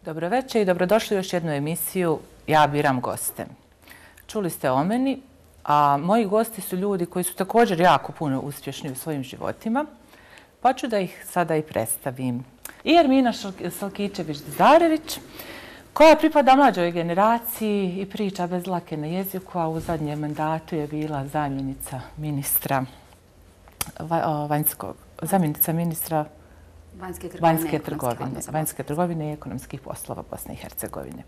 Dobro večer i dobrodošli u još jednu emisiju Ja biram goste. Čuli ste o meni, a moji gosti su ljudi koji su također jako puno uspješni u svojim životima, pa ću da ih sada i predstavim. I Ermina Salkićević-Zarević, koja pripada mlađoj generaciji i priča bez dlake na jeziku, a u zadnjem mandatu je bila zamjenica ministra vanjske trgovine i ekonomskih poslova Bosne i Hercegovine.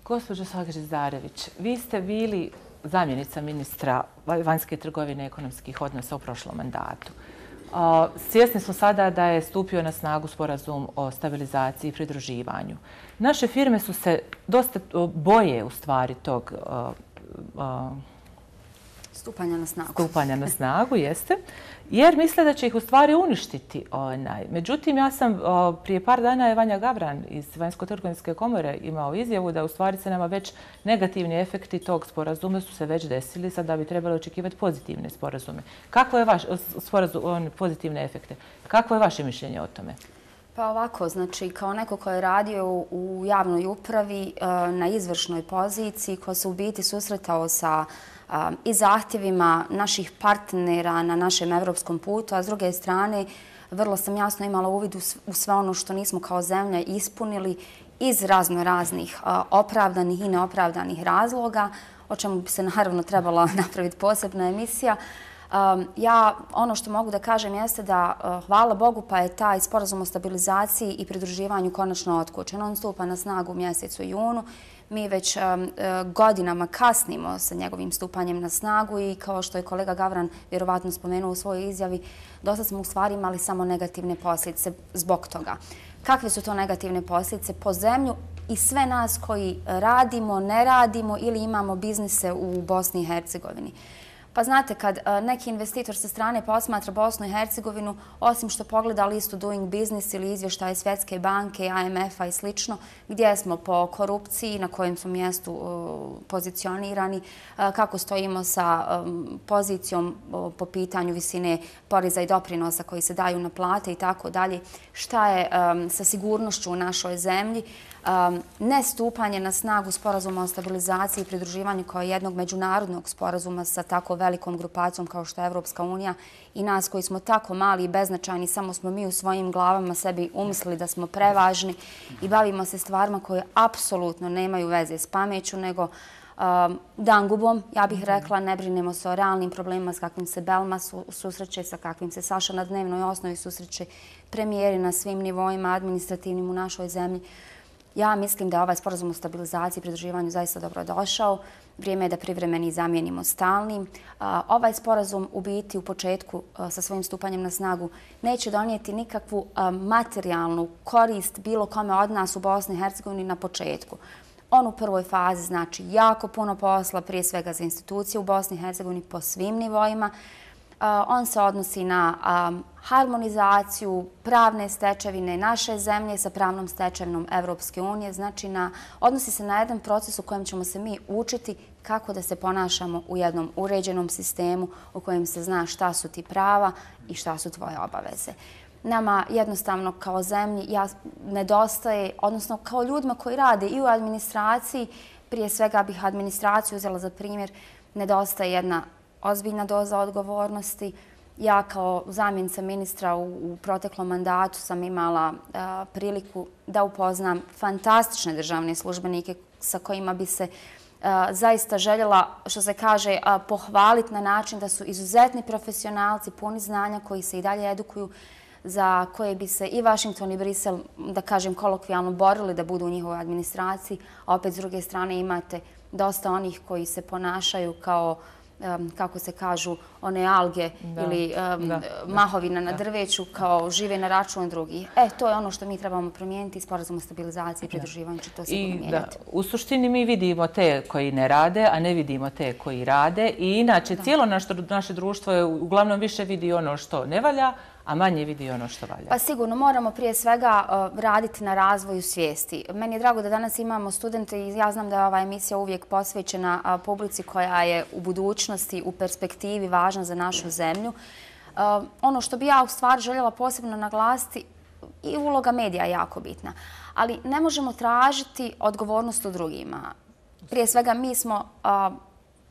Gospođo Salkić-Zarević, vi ste bili zamjenica ministra vanjske trgovine i ekonomskih odnosa u prošlom mandatu. Svjesni smo sada da je stupio na snagu sporazum o stabilizaciji i pridruživanju. Naše firme su se dosta boje u stvari tog stupanja na snagu, jeste, jer misle da će ih u stvari uništiti. Međutim, ja sam prije par dana je Vanja Gavran iz Vanjsko-trgovinske komore imao izjavu da u stvari se nama već negativni efekti tog sporazuma su se već desili, sada bi trebalo očekivati pozitivne sporazume. Kakvo je pozitivne efekte? Kakvo je vaše mišljenje o tome? Pa ovako, znači kao neko ko je radio u javnoj upravi na izvršnoj poziciji, ko se u biti susretao sa i zahtjevima naših partnera na našem evropskom putu, a s druge strane vrlo sam jasno imala uvid u sve ono što nismo kao zemlja ispunili iz raznih opravdanih i neopravdanih razloga, o čemu bi se naravno trebala napraviti posebna emisija. Ja ono što mogu da kažem jeste da hvala Bogu pa je taj sporazum o stabilizaciji i pridruživanju konačno otkočen. On stupa na snagu u mjesecu junu. Mi već godinama kasnimo sa njegovim stupanjem na snagu i kao što je kolega Gavran vjerovatno spomenuo u svojoj izjavi, dosta smo u stvari imali samo negativne posljedice zbog toga. Kakve su to negativne posljedice po zemlju i sve nas koji radimo, ne radimo ili imamo biznise u Bosni i Hercegovini? Pa znate, kad neki investitor sa strane posmatra Bosnu i Hercegovinu, osim što pogleda listu Doing Business ili izvještaje Svjetske banke, IMF-a i slično, gdje smo po korupciji, na kojem smo mjestu pozicionirani, kako stojimo sa pozicijom po pitanju visine poreza i doprinosa koji se daju na plate i tako dalje, šta je sa sigurnošću u našoj zemlji, nestupanje na snagu sporazuma o stabilizaciji i pridruživanju kao jednog međunarodnog sporazuma sa tako velikom grupacijom kao što je Evropska unija i nas koji smo tako mali i beznačajni, samo smo mi u svojim glavama sebi umislili da smo prevažni i bavimo se stvarima koje apsolutno nemaju veze s pameću, nego dangubom, ja bih rekla, ne brinemo se o realnim problemima s kakvim se Belma susreće, sa kakvim se Saša na dnevnoj osnovi susreće, premijeri na svim nivoima administrativnim u našoj zemlji. Ja mislim da je ovaj sporazum o stabilizaciji i pridruživanju zaista dobro došao. Vrijeme je da privremeni zamijenimo stalnim. Ovaj sporazum u biti u početku sa svojim stupanjem na snagu neće donijeti nikakvu materijalnu korist bilo kome od nas u Bosni i Hercegovini na početku. On u prvoj fazi znači jako puno posla, prije svega za institucije u Bosni i Hercegovini po svim nivoima. On se odnosi na harmonizaciju pravne stečevine naše zemlje sa pravnom stečevinom Evropske unije. Znači, odnosi se na jedan proces u kojem ćemo se mi učiti kako da se ponašamo u jednom uređenom sistemu u kojem se zna šta su ti prava i šta su tvoje obaveze. Nama jednostavno kao zemlji nedostaje, odnosno kao ljudima koji rade i u administraciji, prije svega bih administraciju uzela za primjer, nedostaje jedna ozbiljna doza odgovornosti. Ja kao zamjenica ministra u proteklom mandatu sam imala priliku da upoznam fantastične državne službenike sa kojima bi se zaista željela, što se kaže, pohvaliti na način da su izuzetni profesionalci, puni znanja koji se i dalje edukuju, za koje bi se i Washington i Brisel, da kažem kolokvijalno, borili da budu u njihovoj administraciji, a opet s druge strane imate dosta onih koji se ponašaju kao, kako se kažu, one alge ili mahovina na drveću, kao žive na račun drugih. To je ono što mi trebamo promijeniti. Sporazum o stabilizaciji i pridruživanju će to sigurno mijenjati. U suštini mi vidimo te koji ne rade, a ne vidimo te koji rade. I inače, cijelo naše društvo je uglavnom više vidi ono što ne valja, a manje vidi ono što valja. Pa sigurno moramo prije svega raditi na razvoju svijesti. Meni je drago da danas imamo studente i ja znam da je ova emisija uvijek posvećena publici koja je u budućnosti, u perspektivi važna za našu zemlju. Ono što bi ja u stvari željela posebno naglasiti, i uloga medija je jako bitna. Ali ne možemo tražiti odgovornost u drugima. Prije svega mi smo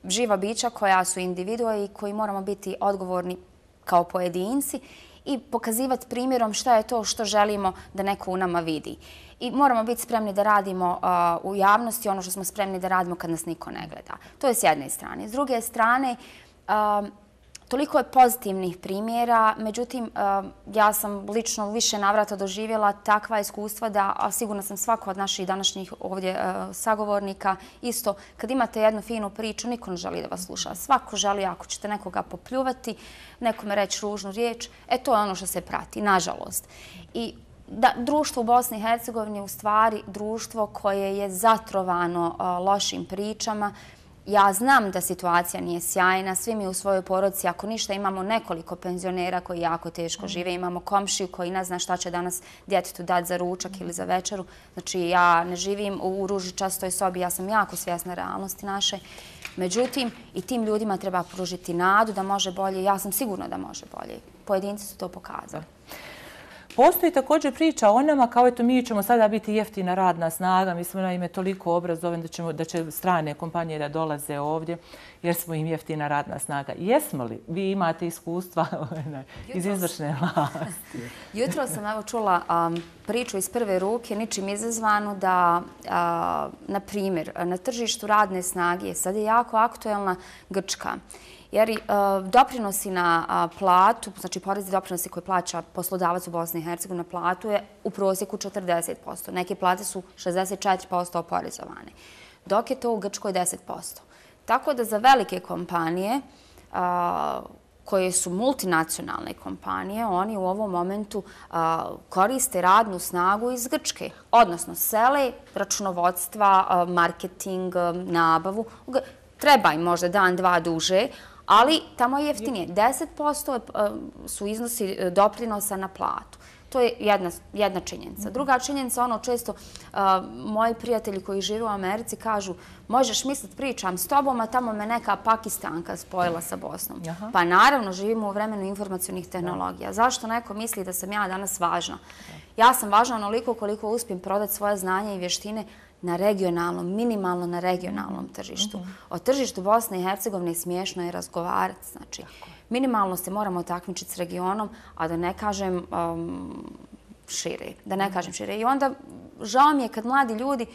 živa bića koja su individue i koji moramo biti odgovorni kao pojedinci i pokazivati primjerom šta je to što želimo da neko u nama vidi. I moramo biti spremni da radimo u javnosti ono što smo spremni da radimo kad nas niko ne gleda. To je s jedne strane. S druge strane, toliko je pozitivnih primjera, međutim, ja sam lično više navrata doživjela takva iskustva da, a sigurno sam svako od naših današnjih ovdje sagovornika, isto, kad imate jednu finu priču, niko ne želi da vas sluša. Svako želi, ako ćete nekoga popljuvati, nekome reći ružnu riječ, to je ono što se prati, nažalost. I društvo u Bosni i Hercegovini je u stvari društvo koje je zatrovano lošim pričama. Ja znam da situacija nije sjajna, svi mi u svojoj porodici, ako ništa, imamo nekoliko penzionera koji jako teško žive, imamo komšiju koji ne zna šta će danas djetetu dati za ručak ili za večeru. Znači, ja ne živim u ružičastoj sobi, ja sam jako svjesna realnosti naše. Međutim, i tim ljudima treba pružiti nadu da može bolje. Ja sam sigurna da može bolje. Pojedinci su to pokazali. Postoji također priča o nama kao eto mi ćemo sada biti jeftina radna snaga, mi smo naime toliko obrazovani da će strane kompanije da dolaze ovdje jer smo im jeftina radna snaga. Jesmo li? Vi imate iskustva iz izvršne vlasti. Jutro sam čula priču iz prve ruke, ničim izazvanu, da, na primjer, na tržištu radne snage sad je jako aktuelna Grčka. Jer doprinosi na platu, znači porezi doprinosi koje plaća poslodavac u Bosni i Hercegovini na platu je u prosjeku 40%. Neke plate su 64% oporezovane, dok je to u Grčkoj 10%. Tako da za velike kompanije koje su multinacionalne kompanije, oni u ovom momentu koriste radnu snagu iz Grčke. Odnosno, sele računovodstva, marketing, nabavu. Treba im možda dan, dva duže, ali tamo je jeftinije. 10% su iznosi doprinosa na platu. To je jedna činjenica. Druga činjenica, ono često moji prijatelji koji žive u Americi kažu možeš misliti pričam s tobom, a tamo me neka Pakistanka spojila sa Bosnom. Pa naravno, živimo u vremenu informacionih tehnologija. Zašto neko misli da sam ja danas važna? Ja sam važna onoliko koliko uspijem prodati svoje znanje i vještine na regionalnom, minimalno na regionalnom tržištu. O tržištu Bosne i Hercegovine smiješno je razgovarati. Znači, minimalno se moramo takmičiti s regionom, a da ne kažem šire. I onda žao mi je kad mladi ljudi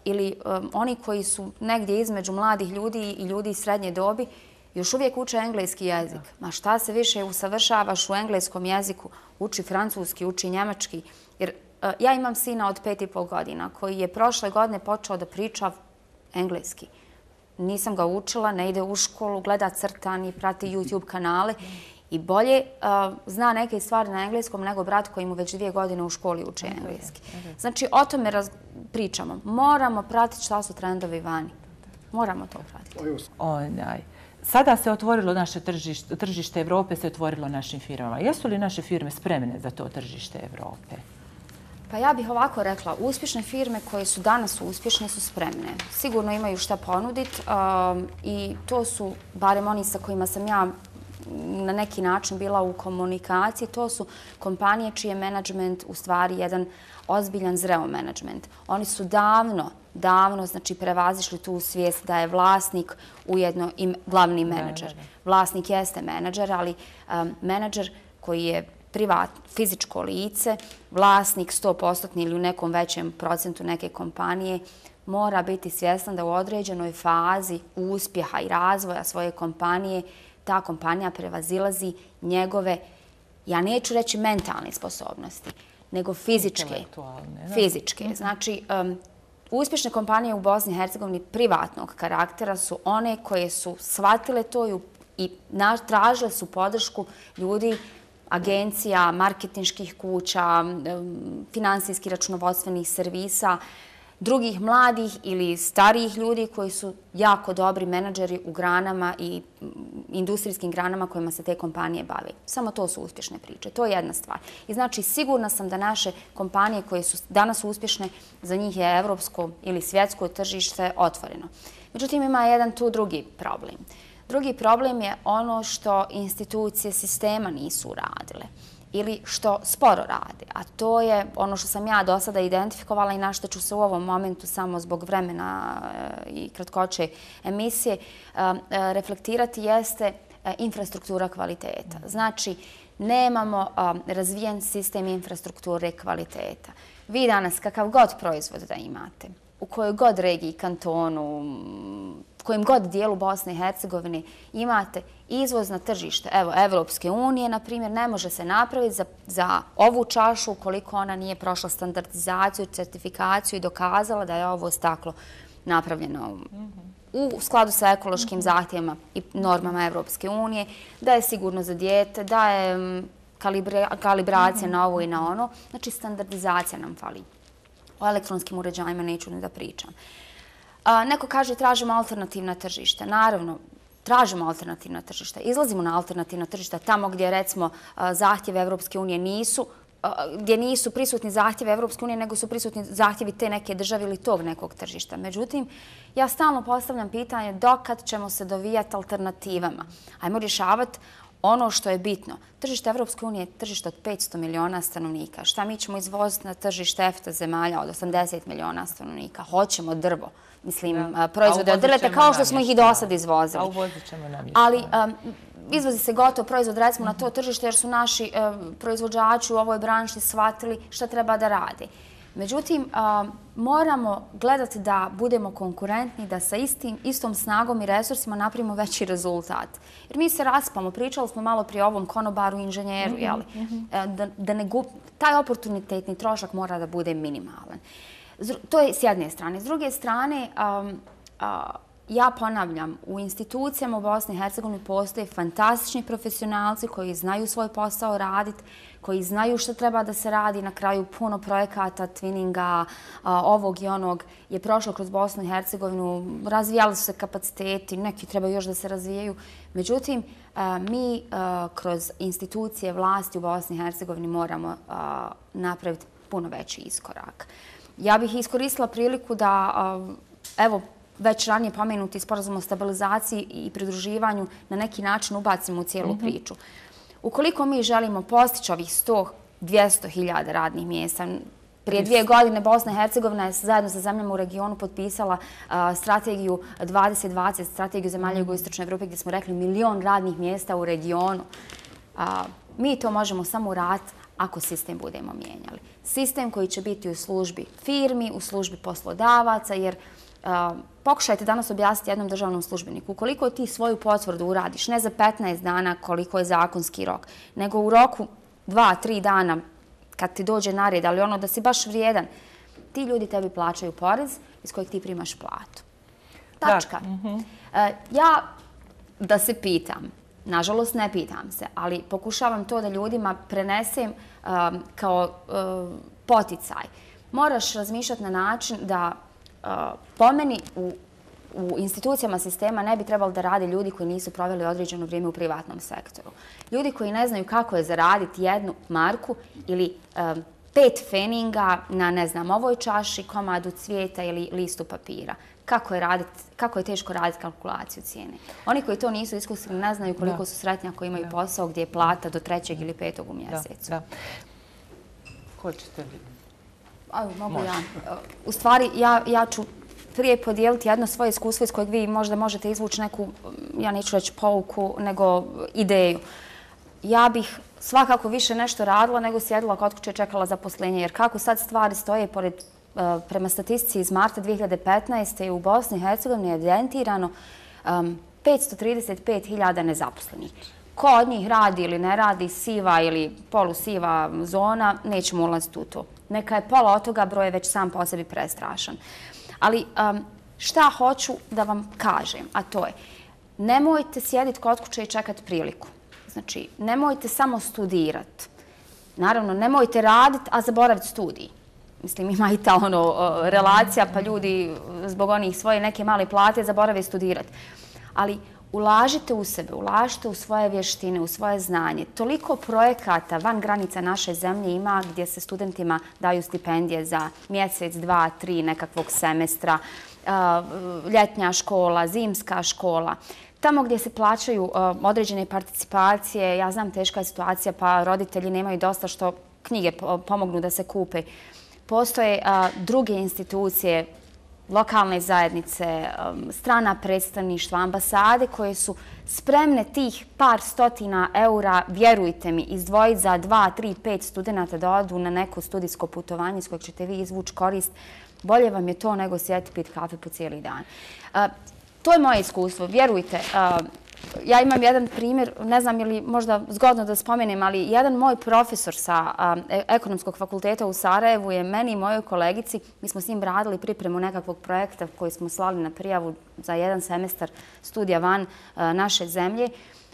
ili oni koji su negdje između mladih ljudi i ljudi srednje dobi još uvijek uče engleski jezik. Ma šta se više usavršavaš u engleskom jeziku? Uči francuski, uči njemački. Jer ja imam sina od 5,5 godina koji je prošle godine počeo da priča engleski. Nisam ga učila, ne ide u školu, gleda crtani, prati YouTube kanale i bolje zna neke stvari na engleskom nego brat koji mu već 2 godine u školi uči engleski. Znači, o tome pričamo. Moramo pratiti šta su trendovi vani. Moramo to pratiti. Sada se otvorilo naše tržište Evrope, se otvorilo našim firmama. Jesu li naše firme spremne za to tržište Evrope? Pa ja bih ovako rekla, uspješne firme koje su danas uspješne su spremne. Sigurno imaju šta ponuditi i to su, barem oni sa kojima sam ja na neki način bila u komunikaciji, to su kompanije čiji je menadžment u stvari jedan ozbiljan zreo menadžment. Oni su davno znači prevazišli tu svijest da je vlasnik ujedno i glavni menadžer. Vlasnik jeste menadžer, ali menadžer koji je fizičko lice, vlasnik 100% ili u nekom većem procentu neke kompanije, mora biti svjestan da u određenoj fazi uspjeha i razvoja svoje kompanije ta kompanija prevazilazi njegove, ja neću reći mentalne sposobnosti, nego fizičke. Znači, uspješne kompanije u Bosni i Hercegovini privatnog karaktera su one koje su shvatile to i tražile su podršku ljudi, agencija, marketinških kuća, finansijskih računovodstvenih servisa, drugih mladih ili starijih ljudi koji su jako dobri menadžeri u granama i industrijskim granama kojima se te kompanije bave. Samo to su uspješne priče. To je jedna stvar. I znači sigurna sam da naše kompanije koje su danas uspješne, za njih je evropsko ili svjetsko tržište otvoreno. Međutim, ima jedan tu drugi problem. Drugi problem je ono što institucije sistema nisu uradile. ili što sporo rade. A to je ono što sam ja do sada identifikovala i na što ću se u ovom momentu samo zbog vremena i kratkoće emisije reflektirati jeste infrastruktura kvaliteta. Znači, nemamo razvijen sistem infrastrukture kvaliteta. Vi danas, kakav god proizvod da imate, u kojoj god regiji, kantonu, kojem god dijelu Bosne i Hercegovine imate izvoz na tržište. Evo, Evropske unije, na primjer, ne može se napraviti za ovu čašu ukoliko ona nije prošla standardizaciju, certifikaciju i dokazala da je ovo staklo napravljeno u skladu sa ekološkim zahtjevima i normama Evropske unije, da je sigurno za dijete, da je kalibracija na ovo i na ono. Znači, standardizacija nam fali. O elektronskim uređajima neću ni da pričam. Neko kaže tražimo alternativna tržišta. Naravno, tražimo alternativna tržišta. Izlazimo na alternativna tržišta tamo gdje, recimo, zahtjeve Evropske unije gdje nisu prisutni zahtjevi Evropske unije, nego su prisutni zahtjevi te neke države ili tog nekog tržišta. Međutim, ja stalno postavljam pitanje dokad ćemo se dovijati alternativama. Ajmo rješavati ono što je bitno. Tržište Evropske unije je tržište od 500 miliona stanovnika. Šta mi ćemo izvoziti na tržište EFTA zemalja od 80 miliona stanovnika? Hoćemo drvo. Mislim, proizvode od drveta kao što smo ih i do sad izvozili. A uvozit ćemo namještaj. Ali izvozi se gotov proizvod, recimo, na to tržište jer su naši proizvođači u ovoj branši shvatili šta treba da rade. Međutim, moramo gledati da budemo konkurentni, da sa istom snagom i resursima napravimo veći rezultat. Jer mi se raspamo, pričali smo malo prije o ovom konobaru, inženjeru, taj oportunitetni trošak mora da bude minimalan. To je s jedne strane. S druge strane, ja ponavljam, u institucijama u Bosni i Hercegovini postoje fantastični profesionalci koji znaju svoj posao raditi, koji znaju što treba da se radi. Na kraju puno projekata, twinninga, ovog i onog je prošlo kroz Bosnu i Hercegovinu. Razvijali su se kapaciteti, neki trebaju još da se razvijaju. Međutim, mi kroz institucije vlasti u Bosni i Hercegovini moramo napraviti puno veći iskorak. Ja bih iskoristila priliku da, evo, već ranije pomenuti sporazum o stabilizaciji i pridruživanju na neki način ubacimo u cijelu priču. Ukoliko mi želimo postići ovih 100-200 hiljada radnih mjesta, prije 2 godine Bosna i Hercegovina je zajedno sa zemljama u regionu potpisala strategiju 2020, strategiju zemalja jugoistočne Evrope gdje smo rekli 1 milion radnih mjesta u regionu. Mi to možemo samo uraditi ako sistem budemo mijenjali. Sistem koji će biti u službi firmi, u službi poslodavaca, jer pokušajte danas objasniti jednom državnom službeniku. Ukoliko ti svoju potvrdu uradiš, ne za 15 dana koliko je zakonski rok, nego u roku 2-3 dana kad ti dođe na red, ali ono da si baš vrijedan, ti ljudi tebi plaćaju porez iz kojeg ti primaš platu. Tačka. Ja da se pitam, nažalost ne pitam se, ali pokušavam to da ljudima prenesem kao poticaj. Moraš razmišljati na način da po meni u institucijama sistema ne bi trebalo da rade ljudi koji nisu proveli određeno vrijeme u privatnom sektoru. Ljudi koji ne znaju kako je zaraditi 1 marku ili 5 feninga na, ne znam, ovoj čaši, komadu cvijeta ili listu papira. Kako je teško raditi kalkulaciju cijene. Oni koji to nisu iskusili ne znaju koliko su sretni ako imaju posao gdje je plata do 3. ili 5. u mjesecu. Hoćete li? Mogu ja. U stvari, ja ću prije podijeliti jedno svoje iskustvo iz kojeg vi možda možete izvući neku, ja neću reći pouku, nego ideju. Ja bih svakako više nešto radila nego sjedila kod kuće i čekala zaposlenje. Jer kako sad stvari stoje, prema statistici iz marta 2015. u Bosni i Hercegovini je evidentirano 535.000 nezaposlenih. Ko od njih radi ili ne radi, siva ili polusiva zona, nećemo ulaziti u to. Neka je pola od toga, broj je već sam po sebi prestrašan. Ali šta hoću da vam kažem, a to je, nemojte sjediti kod kuće i čekati priliku. Znači, nemojte samo studirati. Naravno, nemojte raditi, a zaboraviti studij. Mislim, ima i ta relacija, pa ljudi zbog onih svoje neke male plate zaborave studirati. Ali ulažite u sebe, ulažite u svoje vještine, u svoje znanje. Toliko projekata van granica naše zemlje ima gdje se studentima daju stipendije za mjesec, 2, 3 nekakvog semestra, ljetnja škola, zimska škola. Tamo gdje se plaćaju određene participacije, ja znam teška je situacija pa roditelji nemaju dosta što knjige pomognu da se kupe. Postoje druge institucije, lokalne zajednice, strana predstavništva, ambasade koje su spremne tih par stotina eura, vjerujte mi, izdvojiti za 2, 3, 5 studenta da odu na neko studijsko putovanje s kojeg ćete vi izvući korist. Bolje vam je to nego sjeti pit kafe po cijeli dan. To je moje iskustvo, vjerujte. Ja imam jedan primjer, ne znam je li možda zgodno da spomenem, ali jedan moj profesor sa ekonomskog fakulteta u Sarajevu je meni i mojoj kolegici, mi smo s njim radili pripremu nekakvog projekta koji smo slali na prijavu za jedan semestar studija van naše zemlje.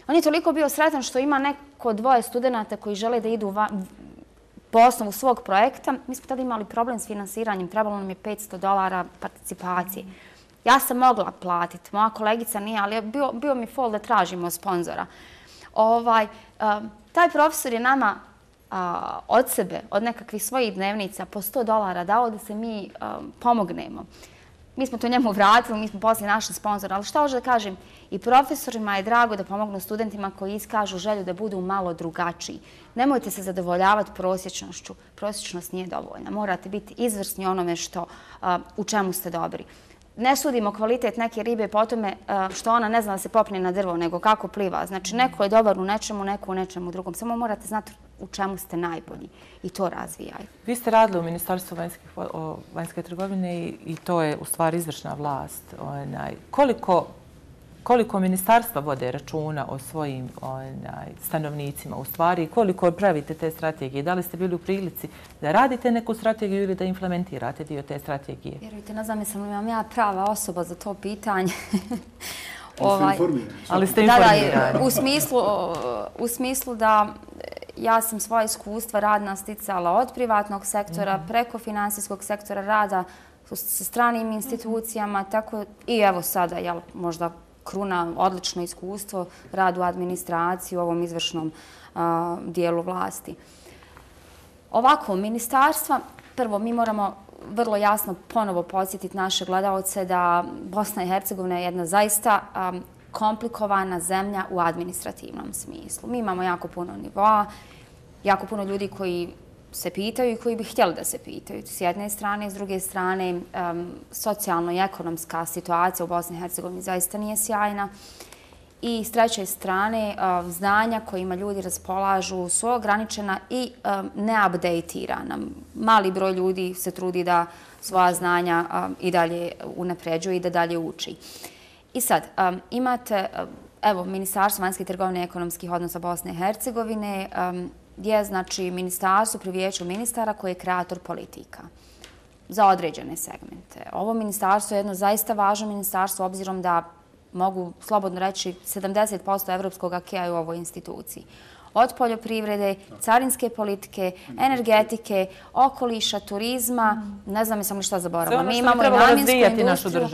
On je toliko bio sretan što ima neko 2 studenta koji žele da idu po osnovu svog projekta. Mi smo tada imali problem s finansiranjem, trebalo nam je $500 participacije. Ja sam mogla platiti, moja kolegica nije, ali bio mi fol da tražimo sponzora. Taj profesor je nama od sebe, od nekakvih svojih dnevnica po $100 dao da se mi pomognemo. Mi smo to njemu vratili, mi smo poslije našli sponzora, ali što hoću da kažem, i profesorima je drago da pomognu studentima koji iskažu želju da budu malo drugačiji. Nemojte se zadovoljavati prosječnošću. Prosječnost nije dovoljna. Morate biti izvrsni onome u čemu ste dobri. Ne sudimo kvalitet neke ribe po tome što ona ne zna da se popne na drvo, nego kako pliva. Znači, neko je dobar u nečemu, neko u nečemu drugom. Samo morate znati u čemu ste najbolji i to razvijaju. Vi ste radili u Ministarstvu vanjske trgovine i to je u stvari izvršna vlast. Koliko ministarstva vode računa o svojim stanovnicima u stvari i koliko pravite te strategije? Da li ste bili u prilici da radite neku strategiju ili da implementirate dio te strategije? Vjerujte, ne znam jesam li vam ja prava osoba za to pitanje. Ali ste informirani. U smislu da ja sam svoje iskustva radna sticala od privatnog sektora preko finansijskog sektora rada sa stranim institucijama, tako i evo sada, možda kruna, odlično iskustvo, rad u administraciji u ovom izvršnom dijelu vlasti. Ovako, ministarstva, prvo mi moramo vrlo jasno ponovo podsjetiti naše gledaoce da Bosna i Hercegovina je jedna zaista komplikovana zemlja u administrativnom smislu. Mi imamo jako puno nivoa, jako puno ljudi koji se pitaju i koji bi htjeli da se pitaju. S jedne strane, s druge strane, socijalno i ekonomska situacija u Bosni i Hercegovini zaista nije sjajna. I s treće strane, znanja kojima ljudi raspolažu su ograničena i neupdatirana. Mali broj ljudi se trudi da svoja znanja i dalje unapređuje i da dalje uči. I sad, imate, evo, Ministarstvo vanjske trgovine i ekonomskih odnosa Bosne i Hercegovine je, znači, ministarstvo pri vijeću ministara koji je kreator politika za određene segmente. Ovo ministarstvo je jedno zaista važno ministarstvo obzirom da mogu slobodno reći 70% evropskog akija je u ovoj instituciji. Od poljoprivrede, carinske politike, energetike, okoliša, turizma, ne znam jesam li šta zaboravila. Mi imamo i namjensku industriju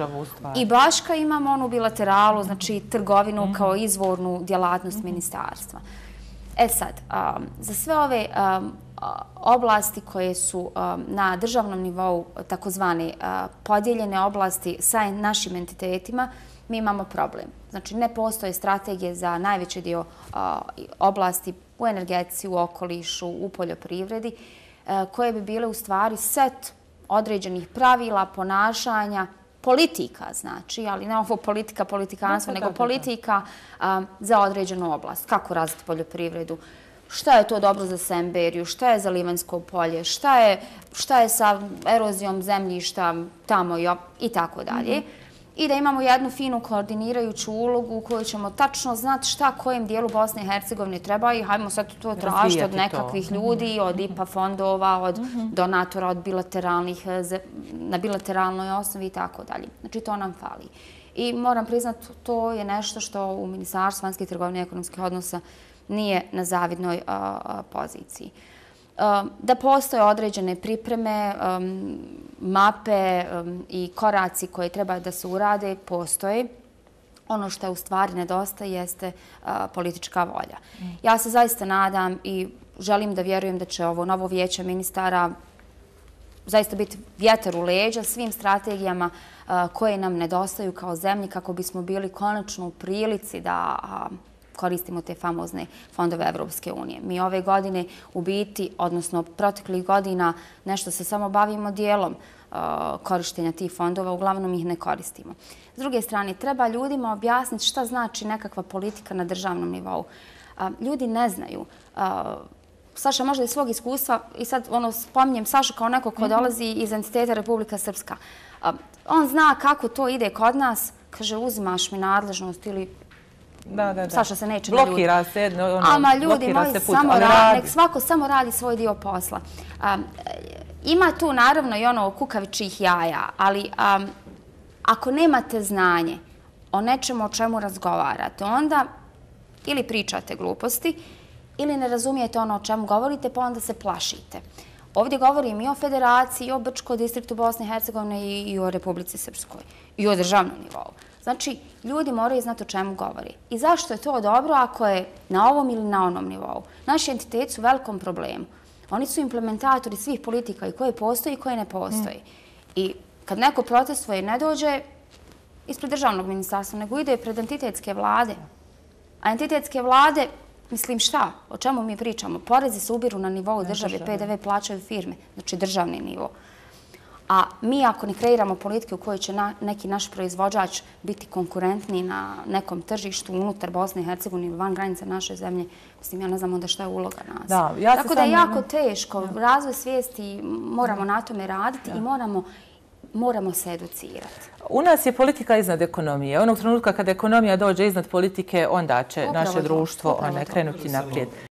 i baška imamo onu bilateralu, znači trgovinu kao izvornu djelatnost ministarstva. E sad, za sve ove oblasti koje su na državnom nivou takozvane podijeljene oblasti sa našim entitetima, mi imamo problem. Znači, ne postoje strategije za najveći dio oblasti u energetici, u okolišu, u poljoprivredi, koje bi bile u stvari set određenih pravila, ponašanja, politika, znači, ali ne ovo politika, politikanstvo, nego politika za određenu oblast. Kako razviti poljoprivredu, šta je to dobro za Semberiju, šta je za Livanjsko polje, šta je sa erozijom zemljišta tamo i tako dalje. I da imamo jednu finu koordinirajuću ulogu u kojoj ćemo tačno znati šta kojem dijelu Bosne i Hercegovine treba i hajmo sad to tražiti od nekakvih ljudi, od IPA fondova, od donatora, od na bilateralnoj osnovi i tako dalje. Znači to nam fali. I moram priznati, to je nešto što u Ministarstvu vanjske trgovine i ekonomskih odnosa nije na zavidnoj poziciji. Da postoje određene pripreme, mape i koraci koje treba da se urade, postoje. Ono što u stvari nedostaje jeste politička volja. Ja se zaista nadam i želim da vjerujem da će ovo novo vijeće ministara zaista biti vjetar u leđa svim strategijama koje nam nedostaju kao zemlji kako bismo bili konačno u prilici da koristimo te famozne fondove Evropske unije. Mi ove godine u biti, odnosno proteklih godina, nešto se samo bavimo dijelom korištenja tih fondova, uglavnom ih ne koristimo. S druge strane, treba ljudima objasniti šta znači nekakva politika na državnom nivou. Ljudi ne znaju. Saša možda iz svog iskustva, i sad spominjem Sašu kao neko ko dolazi iz entiteta Republika Srpska. On zna kako to ide kod nas, kaže uzimaš mi nadležnost ili Saša se neće naljutiti. Blokira se, ama ljudi moji, nek svako samo radi svoj dio posla. Ima tu naravno i ono kukavičjih jaja, ali ako nemate znanje o nečemu o čemu razgovarate, onda ili pričate gluposti, ili ne razumijete ono o čemu govorite, pa onda se plašite. Ovdje govorim i o Federaciji, i o Brčkoj distriktu Bosne i Hercegovine, i o Republici Srpskoj, i o državnom nivou. Znači, ljudi moraju znati o čemu govori. I zašto je to dobro ako je na ovom ili na onom nivou? Naši entiteti su u velikom problemu. Oni su implementatori svih politika i koje postoji i koje ne postoji. I kad neko protestuje, ne dođe ispred državnog ministarstva, nego ide pred entitetske vlade. A entitetske vlade, mislim šta? O čemu mi pričamo? Porezi se ubiru na nivou države, PDV plaćaju firme, znači državni nivo. A mi ako ne kreiramo politike u kojoj će neki naš proizvođač biti konkurentni na nekom tržištu unutar Bosne i Hercegovine ili van granica naše zemlje, mislim, ja ne znam onda šta je uloga nas. Tako da je jako teško. Razvoj svijesti, moramo na tome raditi i moramo se educirati. U nas je politika iznad ekonomije. Onog trenutka kada ekonomija dođe iznad politike, onda će naše društvo krenuti naprijed.